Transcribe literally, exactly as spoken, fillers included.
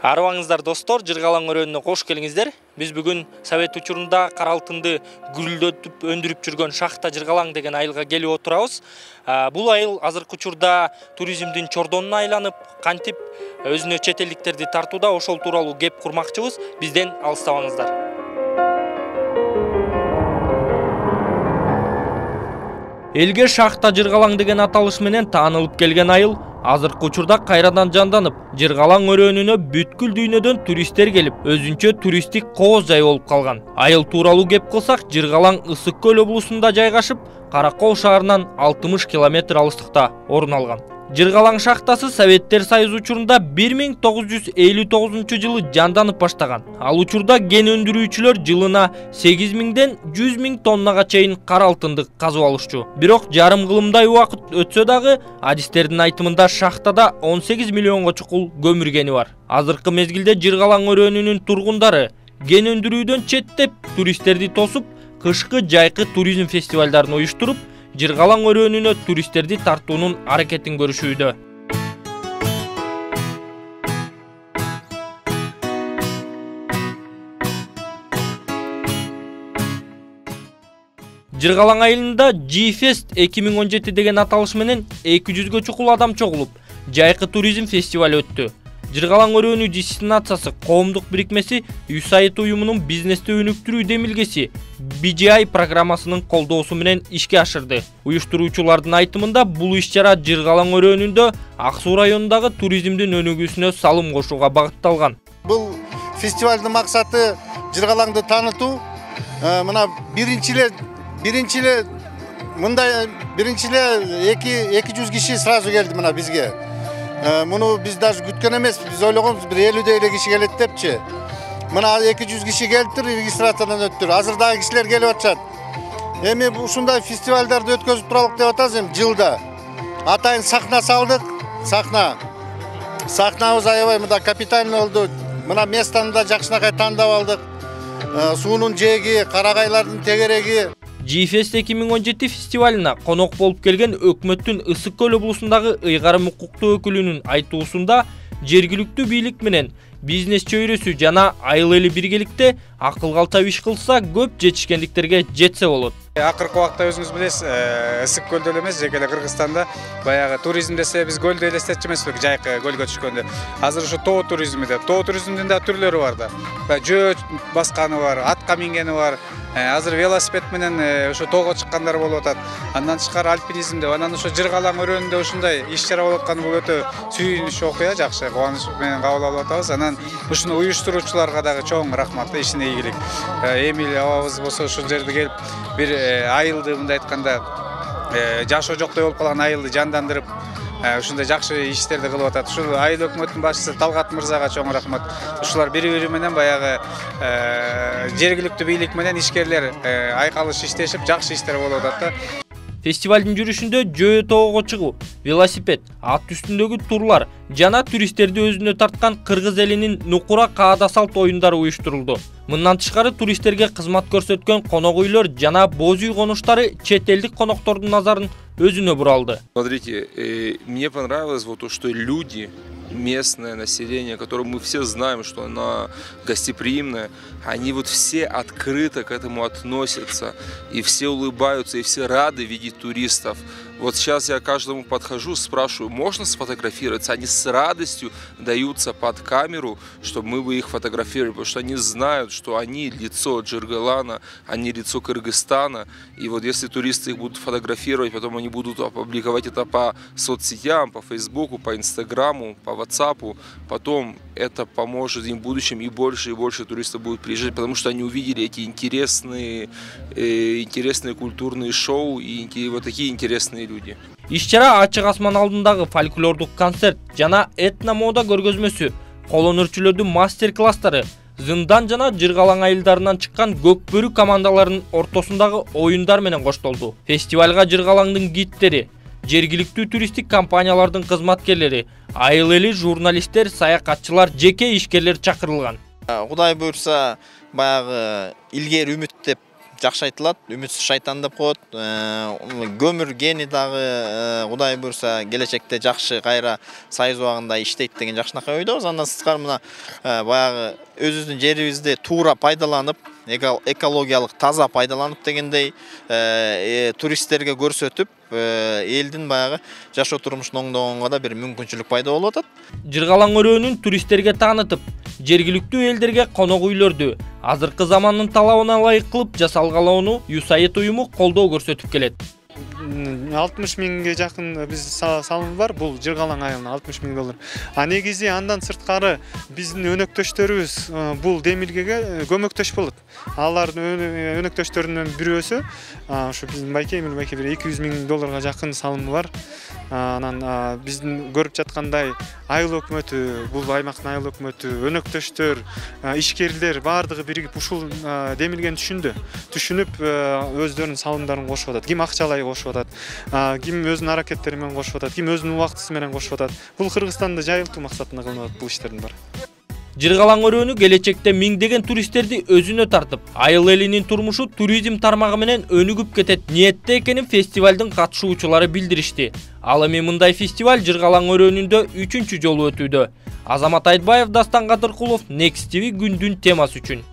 Арыбаңыздар достор, Жыргалаң өрөөнүнө кош келиңиздер. Биз бүгүн Совет учурунда кара алтынды гүрүлдөтүп өндүрүп жүргөн шахта Жыргалаң деген айылга келип отурабыз. Бул айыл азыркы учурда туризмдин чордонуна айланып, кантип өзүнө чет элдиктерди тартууда, ошол тууралуу кеп курмакчыбыз. Бизден алыстабаңыздар. Элге шахта Жыргалаң деген аталыш менен таанылып келген айыл азыркы учурда кайрадан жанданып, Жыргалаң өрөөнүнө бүткүл дүйнөдөн туристтер келип, өзүнчө туристтик кооз жай болуп калган. Айыл тууралуу кеп кылсак, Жыргалаң Ысык көл облусунда жайгашып, Каракол шаарынан алтымыш километр алыстыкта орун алган. Жыргалаң шахтасы Советтер Союзу учурунда бир миң тогуз жүз элүү тогузунчу жылы жанданып баштаган. Ал учурда кен өндүрүүчүлөр жылына сегиз миңден жүз миң тоннага чейин кара алтынды казып алышчу. Бирок жарым кылымдай убакыт өтсө дагы, адистердин айтымында шахтада он сегиз миллионго чукул көмүр кени бар. Азыркы мезгилде Жыргалаң өрөөнүнүн тургундары кен өндүрүүдөн четтеп, туристтерди тосуп, кышкы жайкы туризм фестивалдарын уюштуруп, Жыргалаң өрөөнүнө туристтерди тартуунун аракетин көрүшүүдө. Жыргалаң айылында G-Fest эки миң он жети деген аталыш менен эки жүзгө чукул адам чогулуп, жайкы туризм фестивали өттү. Жыргалаң өрөөнү дестинациясы коомдук бирикмеси ю эс эй ай ди уюмунун бизнести өнүктүрүү демилгеси би джи ай программасынын колдоосу менен ишке ашырды. Уюштуруучулардын айтымында бул иш-чара Жыргалаң өрөөнүндө Ак Суу районундагы туризмдин өнүгүүсүнө салым кошууга багытталган. Бул фестивалдын максаты Жыргалаңды таанытуу. Мына биринчи эле биринчи эле мындай биринчи эле эки жүз киши сразу келди мына бизге. Муну биз даже күткөн эмес, биз ойлогонбуз бир элүү эле киши келет депчи. Мына эки жүз киши келиптир, регистрациядан өттүр. Азыр дагы кишилер келип атышат. Эми ушундай фестивалдарды өткөзүп туралык деп атабыз эми жылда. Атайын сахна салдык, сахна. Сахнабыз аябай мында капитальный болду. Мына местаны да жакшынакай тандап алдык. Суунун жээги, карагайлардын тегереги. G-Fest эки миң он жети фестивалына конок болуп келген өкмөттүн Ысык көл облусундагы ыйгарым укуктуу өкүлүнүн айтуусунда жергиликтүү бийлик менен бизнес чөйрөсү жана айыл эли биргеликте акыл калтап иш кылса көп жетишкендиктерге жетсе болот. Акыркы убакта өзүңүз билесиз, Ысык көлдө эле эмес, жеке эле Кыргызстанда баягы туризм десе биз көлдү элестетчү эмеспи, жайкы көлгө түшкөндө. Азыр ушу тоо туризми деп, тоо туризмдин да түрлөрү бар да. Жөө басканы бар, атка мингени бар. Азыр велосипед менен ошо тоого чыккандар болуп атат. Андан тышкары альпинизм деп, анан ошо Жыргалаң өрөөнүндө ушундай иш-чара болуп атканы бул өтө сүйүнүчтүү окуя, жакшы, кубаныч менен кабыл алып атабыз. Анан ушуну уюштуруучуларга дагы чоң рахмат, ишине ийгилик. Эмил абабыз болсо ушул жерде келип бир айылды мындай айтканда жашоо жоктой болуп калган айылды жандандырып, ушундай жакшы иштерди кылып атат. Ушул айыл өкмөтүнүн башчысы Талгат мырзага чоң рахмат. Ушулар бири-бири менен баягы жергиликтүү бийлик менен ишкерлер айкалыш иштешип, жакшы иштер болуп атат да. Фестивалдын жүрүшүндө жөө тоого чыгуу, велосипед, ат үстүндөгү турлар жана туристтерди өзүнө тарткан кыргыз элинин нукура каада салт оюндары уюштурулду. Мындан тышкары туристтерге кызмат көрсөткөн конок үйлөр жана боз үй конуштары чет элдик коноктордун назарын өзүнө буралды. Смотрите, мне понравилось вот то, что люди, местное население, которое мы все знаем, что оно гостеприимное, они вот все открыто к этому относятся, и все улыбаются, и все рады видеть туристов. Вот сейчас я каждому подхожу, спрашиваю, можно сфотографироваться? Они с радостью даются под камеру, чтобы мы бы их фотографировали, потому что они знают, что они лицо Жыргалана, они лицо Кыргызстана. И вот если туристы их будут фотографировать, потом они будут опубликовать это по соцсетям, по Фейсбуку, по Инстаграму, по Ватсапу, потом это поможет им в будущем, и больше и больше туристов будут приезжать, потому что они увидели эти интересные, э, интересные культурные шоу и вот такие интересные люди. Иш-чара ачык асман алдындагы фольклордук концерт жана этно мода көргөзмөсү, кол өнөрчүлөрдүн мастер-класстары, Зындан жана Жыргалаң айылдарынан чыккан көкбөрү командаларынын ортосундагы оюндар менен коштолду. Фестивалга Жыргалаңдын гидтери, жергиликтүү туристтик компаниялардын кызматкерлери, айыл эли журналисттер, саякатчылар, жеке ишкерлер чакырылган. Кудай буйрса, баягы илгери үмүт деп жакшы айтылат. Үмүтсүз шайтан деп коет. Көмүр гени дагы Кудай буйрса келечекте жакшы кайра сайыз убагында иштейт деген жакшынакай ойдобуз. Андан сырткары мына баягы өзүбүздүн жерибизди туура пайдаланып, экологиялык таза пайдаланып дегендей туристтерге көрсөтүп, элдин баягы жашоо турмушун оңдогонго да бир мүмкүнчүлүк пайда болуп атат. Жыргалаң өрөөнүн туристтерге таанытып, жергиликтүү элдерге конок үйлөрдү азыркы замандын талабына ылайык кылып жасалгалоону ю эс эй ай уюму колдоо көрсөтүп келет. алтымыш миңге жакын биз салым бар. Бул Жыргалаң айылына алтымыш миң доллар. А негизи андан сырткары биздин өнөктөштөрүбүз бул демилгеге көмөктөш болот. Алардын өнөктөштөрүнүн бирөөсү ушу биздин байке Эмил байке бир эки жүз миң долларга жакын салымы бар. Анан биздин көрүп жаткандай айыл өкмөтү, бул аймактын айыл өкмөтү, өнөктөштөр, ишкерлер баардыгы биригип ушул демилгени түшүндү. Түшүнүп өздөрүнүн салымдарын кошуп атат. Ким акчалай кошуп атат, ким өзүнүн аракеттери менен кошуп атат, ким өзүнүн убактысы менен кошуп атат. Бул Кыргызстанда жайылтуу максатында кылынып атат бул иштердин баары. Жыргалаң өрөөнү келечекте миңдеген туристтерди өзүнө тартып, айыл элинин турмушу туризм тармагы менен өнүгүп кетет ниетте экенин фестивалдын катышуучулары билдиришти. Ал эми мындай фестиваль Жыргалаң өрөөнүндө үчүнчү жолу өтүүдө. Азамат Айтбаев, Дастан Кадыркулов, Next ти ви күндүн темасы үчүн.